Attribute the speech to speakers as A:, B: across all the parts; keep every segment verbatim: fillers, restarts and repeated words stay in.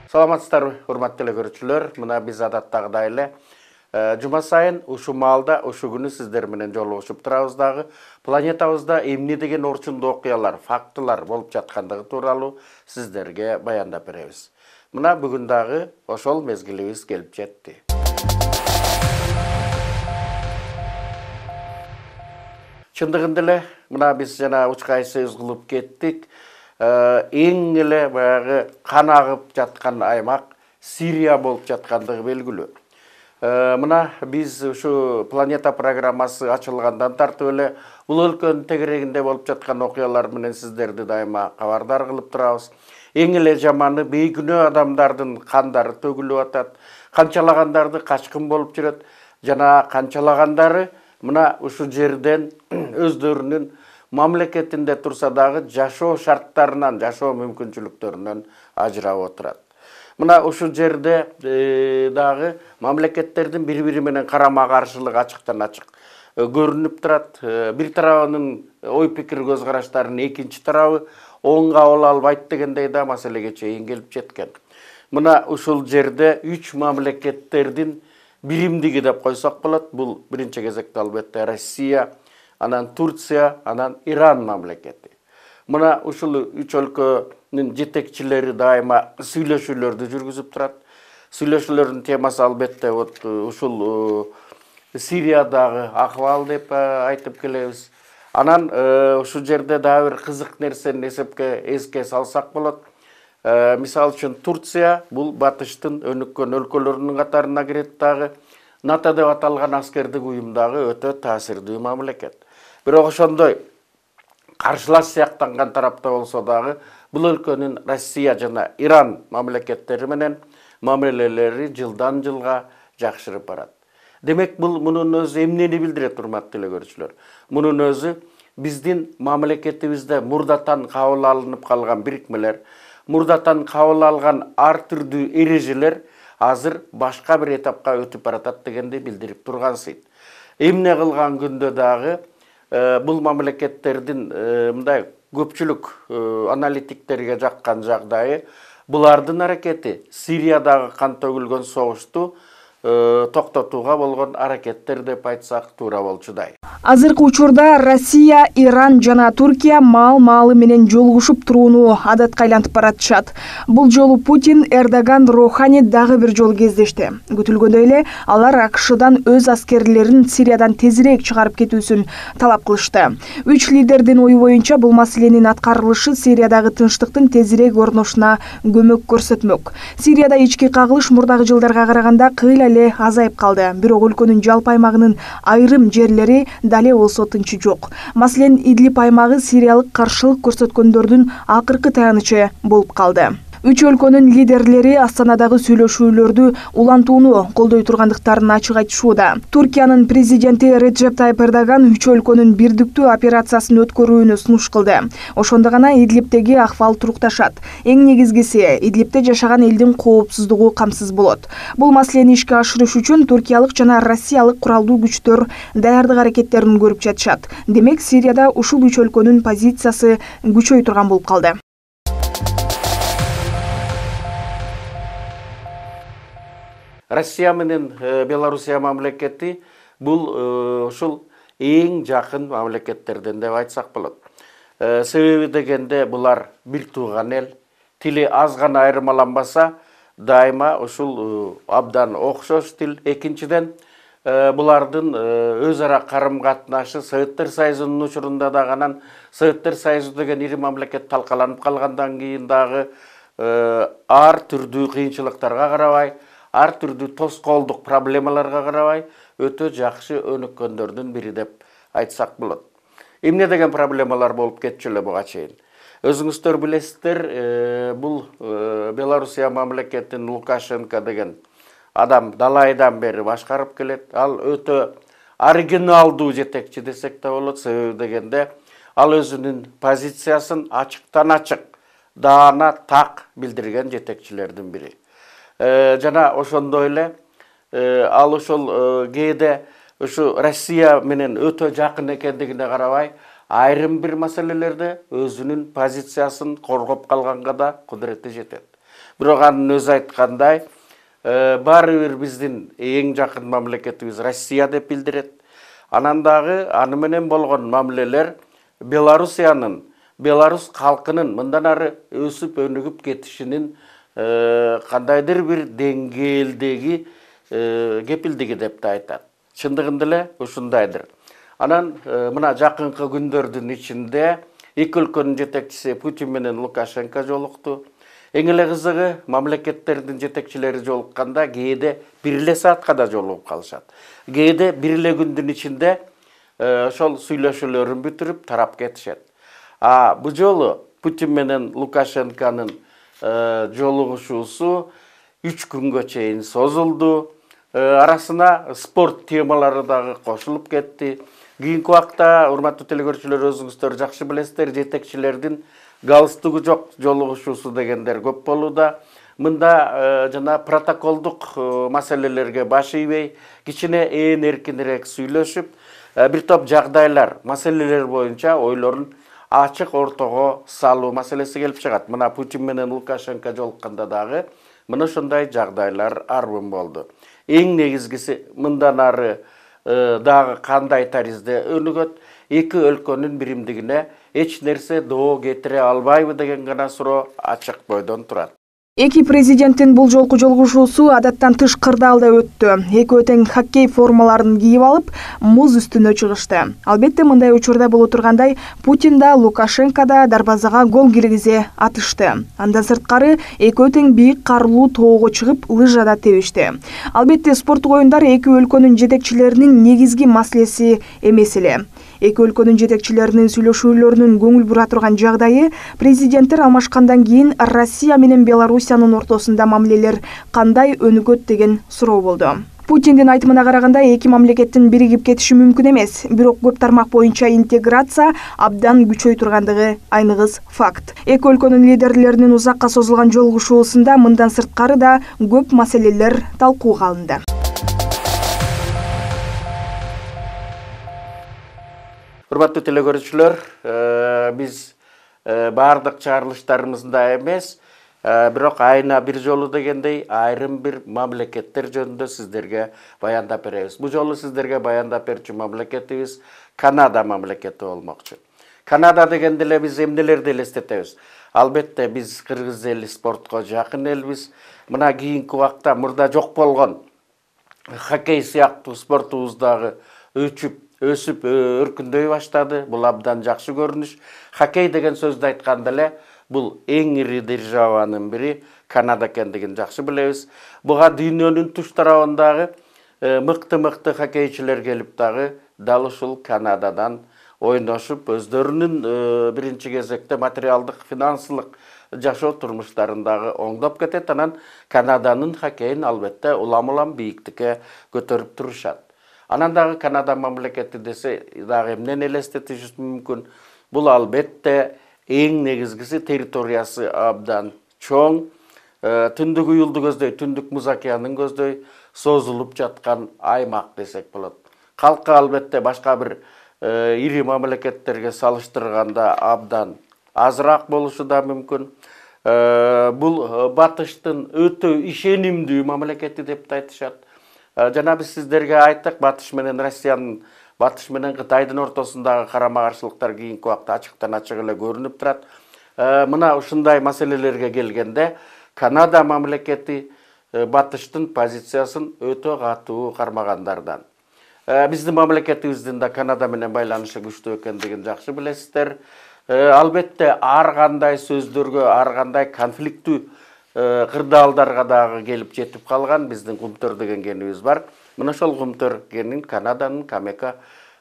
A: Саламатсыздар, урматтуу көрүүчүлөр. Мына биз адаттагыдай эле жума сайын ушу маалда, ушу күнү сиздер менен жолугушуп турабыз дагы. Планетабызда эмне деген орчундуу окуялар, фактылар болуп жаткандыгы тууралуу сиздерге баяндап беребиз. Мына бүгүн дагы ошол мезгилибиз келип жетти. Чындыгында эле мына биз жана учкай сөз кылып кеттик. Эң эле баягы кан агып жаткан аймак Сирия болуп жаткандыгы белгилүү. Мына биз ушу планета программасы ачылгандан тартып эле бул өлкөнүн тегерегинде болуп жаткан окуялар менен сиздерди дайыма кабардар кылып турабыз. Эң эле жаманы бейкүнөө адамдардын кандары төгүлүп атат, канчалагандарды качкын болуп жүрөт, жана канчалагандары мына ушу жерден өздөрүнүн мамлекетинде турса дагы жашоо шарттарынан, жашоо мүмкүнчүлүктөрүнөн ажырап отурат. Мына ушу жерде дагы мамлекеттердин бири-бири менен карама каршылыгы ачыктан ачык көрүнүп турат. Бир тарабынын ой пикир көз караштарынын экинчи тарабы оң кабыл албайт дегендей да маселеге чейин келип жеткен. Мына ушул жерде үч мамлекеттердин биримдиги деп койсок болот. Бул биринчи кезекте албетте Россия, анан Турция, анан Иран мамлекети. Мына ушул үч өлкөнүн жетекчилери дайыма сүйлөшүүлөрдү жүргүзүп турат. Сүйлөшүүлөрдүн темасы албетте вот ушул Сириядагы акыбал деп айтып келебиз. Анан ушул жерде дагы бир кызык нерсени эсепке эске салсак болот. Мисалы үчүн Турция бул батыштын өнүккөн өлкөлөрүнүн катарына кирет дагы. НАТО деп аталган аскердик уюмдагы өтө таасирдүү мамлекет. Бирок ошондой каршылаш сыяктанган тарапта болсо дагы бул өлкөнүн Россия жана Иран мамлекеттери менен мамилелери жылдан жылга жакшырып барат. Демек бул мунун өзү эмнени билдирет, урматтуу көрүүчүлөр? Мунун өзү биздин мамлекетибизде мурдатан кабыл алынып калган бирикмелер, мурдатан кабыл алган ар түрдүү эрежелер азыр башка бир этапка өтүп баратат дегенди билдирип тургансыйт. Эмне кылган күндө дагы бул мамлекеттердин мындай көпчүлүк аналитиктерге жаккан жагдайы булардын аракети Сириядагы кан төгүлгөн согушту токтотууга болгон аракеттер деп айтсак туура болчудай.
B: Азыркы учурда Россия, Иран жана Туркия маал-маалы менен жолугушуп турууну адатка айлантып баратышат. Бул жолу Путин, Эрдоган, Роухани дагы бир жолу кездешти. Күтүлгөндөй эле алар АКШдан өз аскерлерин Сириядан тезирээк чыгарып кетүүсүн талап кылышты. Үч лидердин ою боюнча бул маселенин аткарылышы Сириядагы тынчтыктын тезирээк орношуна көмөк көрсөтмөк. Сирияда ички кагылыш мурдагы жылдарга караганда кыйла эле азайып калды. Бирок өлкөнүн жалпы аймагынын айрым жерлери дале болсо тынчы жок. Маселен, Идлиб аймагы сириялык каршылык көрсөткөндөрдүн акыркы таянычы болуп калды. Үч өлкөнүн лидерлери Астанадагы сүйлөшүүлөрдү улантууну колдой тургандыктарын ачык айтышууда. Туркиянын президенти Реджеп Тайып Эрдоган үч өлкөнүн бирдиктүү операциясын өткөрүүнү сунуш кылды. Ошондо гана Идлибтеги акыбал турукташат. Эң негизгиси Идлибте жашаган элдин коопсуздугу камсыз болот. Бул маселени ишке ашырыш үчүн туркиялык жана россиялык куралдуу күчтөр даярдык аракеттерин көрүп жатышат. Демек, Сирияда ушул үч өлкөнүн позициясы күчөй турган болуп калды.
A: Россия менен Белоруссия мамлекети бул ушул эң жакын мамлекеттерден деп айтсак болот. Себеби дегенде булар бир тууган эл, тили аз гана айырмаланбаса, дайыма ушул абдан окшош тил. Экинчиден, булардын өз ара карым катнашы Советтер Союзунун учурунда дагы анан Советтер Союзу деген ири мамлекет талкаланып калгандан кийин дагы ар түрдүү кыйынчылыктарга карабай, ар түрдүү тоскоолдук проблемаларга карабай өтө жакшы өнүккөндөрдүн бири деп айтсак болот. Эмне деген проблемалар болуп кетчү эле буга чейин? Өзүңүздөр билесиздер, бул Белоруссия мамлекетин Лукашенко деген адам далайдан бери башкарып келет. Ал өтө оригиналдуу жетекчи десек да болот. Себеби дегенде ал өзүнүн позициясын ачыктан ачык, даана так билдирген жетекчилердин бири. Жана ошондой эле ал ошол кээде ушу Россия менен өтө жакын экендигине карабай, айрым бир маселелерде өзүнүн позициясын коргоп калганга да кудурети жетет. Бирок анын өзү айткандай, баары бир биздин эң жакын мамлекетибиз Россия деп билдирет. Анан дагы аны менен болгон мамилелер Белоруссиянын, Белорус калкынын мындан ары өсүп өнүгүп кетишинин кандайдыр бир деңгээлдеги кепилдиги деп да айтат. Чындыгында эле ушундайдыр. Анан мына жакынкы күндөрдүн ичинде эки өлкөнүн жетекчиси Путин менен Лукашенко жолукту. Эң эле кызыгы, мамлекеттердин жетекчилери жолукканда кээде бир эле саатка да жолугуп калышат. Кээде бир эле күндүн ичинде ошол сүйлөшүүлөрүн бүтүрүп тарап кетишет. А бул жолу Путин менен Лукашенконун жолугушуусу үч күнгө чейин созулду. Арасына спорт темалары дагы кошулуп кетти. Кийинки убакта, урматтуу телекөрүүчүлөр, өзүңүздөр жакшы билесиздер, жетекчилердин галстугу жок жолугушуусу дегендер көп болууда. Мында жана протоколдук маселелерге баш ийбей, кичине ээн эркинирээк сүйлөшүп, бир топ жагдайлар, маселелер боюнча ойлорун ачык ортого салуу маселеси келип чыгат. Мына Путин менен Лукашенко жолукканда дагы мына ошондой жагдайлар арбын болду. Эң негизгиси, мындан ары дагы кандай таризде өнүгөт, эки өлкөнүн биримдигине эч нерсе доо кетире албайбы деген гана суроо ачык бойдон турат.
B: Эки президенттин бул жолку жолугушуусу адаттан тыш кырдаалда өттү. Экөө тең хоккей формаларын кийип алып, муз үстүнө чыгышты. Албетте мындай учурда боло тургандай, Путин да, Лукашенко да дарбазага гол киргизе атышты. Андан сырткары экөө тең бийик карлуу тоого чыгып, лыжада тебишти. Албетте спорттук оюндар эки өлкөнүн жетекчилеринин негизги маселеси эмес эле. Эки өлкөнүн жетекчилеринин сүйлөшүүлөрүнүн көңүл бура турган жагдайы, президенттер алмашкандан кийин Россия менен Белоруссиянын ортосунда мамилелер кандай өнүгөт деген суроо болду. Путиндин айтымына караганда, эки мамлекеттин биригип кетиши мүмкүн эмес, бирок көп тармак боюнча интеграция абдан күчөй тургандыгы айныгыс факт. Эки өлкөнүн лидерлеринин узакка созулган жолугушуусунда мындан сырткары да көп маселелер талкууга алынды.
A: Урматтуу телекөрүүчүлөр, биз баардык чыгарылыштарыбызда эмес, бирок айына бир жолу дегендей айрым бир мамлекеттер жөнүндө сиздерге баяндап беребиз. Бул жолу сиздерге баяндап берчү мамлекетибиз Канада мамлекети болмокчу. Канада дегенде эле биз эмнелерди элестетебиз? Албетте биз кыргыз эли спортко жакын элбиз. Мына кийинки убакта мурда жок болгон хоккей сыяктуу спортубуздагы өчүп өсүп өркүндөй баштады. Бул абдан жакшы көрүнүш. Хоккей деген сөздү айтканда эле бул эң ири державанын бири Канада экендигин жакшы билебиз. Буга дүйнөнүн туш тарабындагы мыкты-мыкты хоккейчилер келип дагы дал ушул Канададан ойношуп, өздөрүнүн биринчи кезекте материалдык, финансылык жашоо турмуштарын дагы оңдоп кетет. Анан Канаданын хоккейин албетте улам-улам бийиктикке көтөрүп турушат. Анан дагы Канада мамлекети десе дагы эмнени элестетишибиз мүмкүн? Бул албетте эң негизгиси территориясы абдан чоң, түндүк уюлду көздөй, түндүк Муз океанын көздөй созулуп жаткан аймак десек болот. Калкы албетте башка бир ири мамлекеттерге салыштырганда абдан азыраак болушу да мүмкүн. Бул батыштын өтө ишенимдүү мамлекети деп айтышат. Жана биз сиздерге айттык, Батыш менен Россиянын, Батыш менен Кытайдын ортосундагы карама-каршылыктар кийинки убакта ачыктан ачык эле көрүнүп турат. Мына ушундай маселелерге келгенде Канада мамлекети Батыштын позициясын өтө катуу кармагандардан. Биздин мамлекетибиздин да Канада менен байланышы күчтүү экендигин жакшы билесиздер. Албетте ар кандай сөздөргө, ар кандай конфликттүү кырдаалдарга дагы келип жетип калган биздин Кумтөр деген кенибиз бар. Мына ошол Кумтөр кенин Канаданын Камека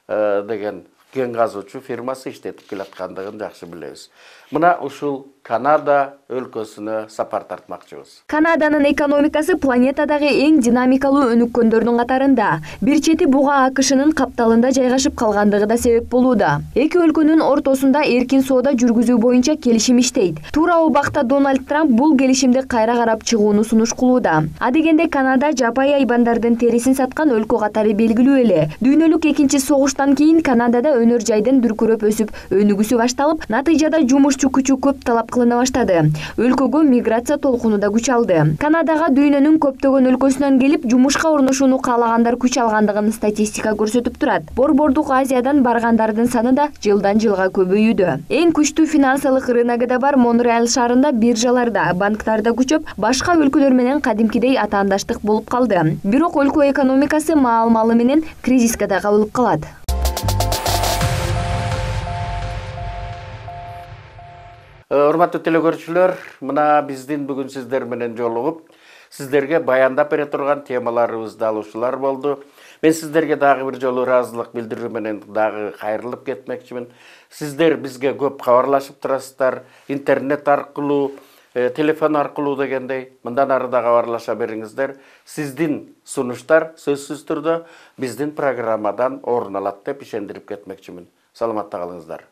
A: деген кен казуучу фирмасы иштетип келаткандыгын жакшы билебиз. Мына ушул Канада өлкөсүнө сапар тартмакчыбыз.
C: Канаданын экономикасы планетадагы эң динамикалуу өнүккөндөрдүн катарында. Бир чети буга АКШнын капталында жайгашып калгандыгы да себеп болууда. Эки өлкөнүн ортосунда эркин соода жүргүзүү боюнча келишим иштейт. Туура убакта Дональд Трамп бул келишимди кайра карап чыгууну сунуш кылууда. А дегенде Канада жапай айбандардын терисин саткан өлкө катары белгилүү эле. Дүйнөлүк экинчи согуштан кийин Канадада өнөр жайдын дүркүрөп өсүп, өнүгүүсү башталып, натыйжада жумушчу күчү көп талап кылына баштады. Өлкөгө миграция толкуну да күч алды. Канадага дүйнөнүн көптөгөн өлкөсүнөн келип жумушка орношууну каалагандар күч алгандыгын статистика көрсөтүп турат. Борбордук Азиядан баргандардын саны да жылдан жылга көбөйүүдө. Эң күчтүү финансылык рыногу бар Монреаль шаарында биржаларда, банктарда күчөп, башка өлкөлөр менен кадимкидей атаандаштык болуп калды. Бирок өлкө экономикасы маал-малы менен кризиске да кабылып калат.
A: Урматтуу телекөрүүчүлөр, мына биздин бүгүн сиздер менен жолугуп, сиздерге баяндап бере турган темаларыбызды алуучулар болду. Мен сиздерге дагы бир жолу ыраазылык билдирүү менен дагы кайрылып кетмекчимин. Сиздер бизге көп кабарлашып турасыздар, интернет аркылуу, э, телефон аркылуу дегендей. Мындан ары да кабарлаша бериңиздер. Сиздин сунуштар сөзсүз түрдө биздин программадан орун алат деп ишендирип кетмекчимин. Саламатта калыңыздар.